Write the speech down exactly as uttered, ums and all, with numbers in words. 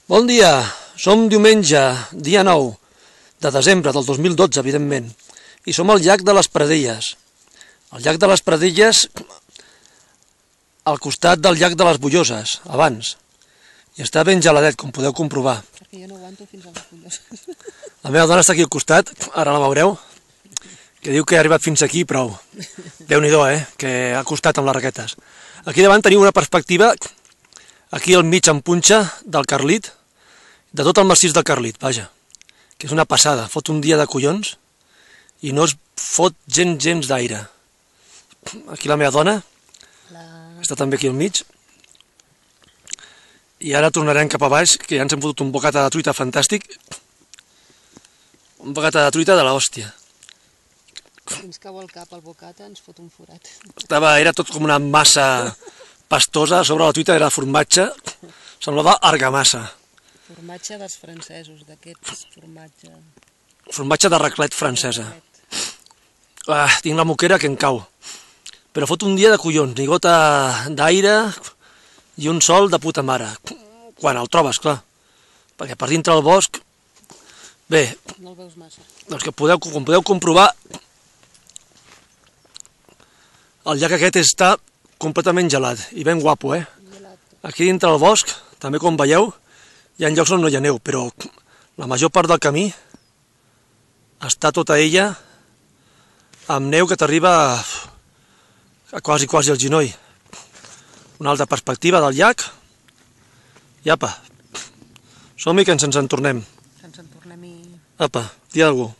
Bon dia, som diumenge, dia nou de desembre del dos mil dotze, evidentment, i som al llac de les Pradelles. El llac de les Pradelles al costat del llac de les Bulloses, abans, i està ben geladet, com podeu comprovar. Perquè jo no aguanto fins a les Bulloses. La meva dona està aquí al costat, ara la veureu, que diu que ha arribat fins aquí, prou. Déu-n'hi-do, eh, que ha costat amb les raquetes. Aquí davant teniu una perspectiva, aquí al mig en punxa del Carlit, de tot el massís del Carlit, vaja, que és una passada, fot un dia de collons i no es fot gens, gens d'aire. Aquí la meva dona, La... està també aquí al mig, i ara tornarem cap a baix, que ja ens hem fotut un bocata de truita fantàstic, un bocata de truita de l'hòstia. Fins cau el cap al bocata ens fot un forat. Estava, era tot com una massa pastosa, sobre la truita era formatge, semblava argamassa. Formatge dels francesos, d'aquests formatge... Formatge de raclet francesa. Ah, tinc la moquera que em cau. Però fot un dia de collons, ni gota d'aire i un sol de puta mare. Quan el trobes, clar. Perquè per dintre del bosc... Bé, No el veus massa. doncs que podeu, com podeu comprovar, el llac aquest està completament gelat i ben guapo, eh? Gelat. Aquí dintre del bosc, també com veieu, hi ha llocs on no hi ha neu, però la major part del camí està tota ella amb neu que t'arriba a quasi, quasi al genoll. Una altra perspectiva del llac. I apa, som-hi que ens en tornem. Ens en tornem i... Apa, dia d'algú.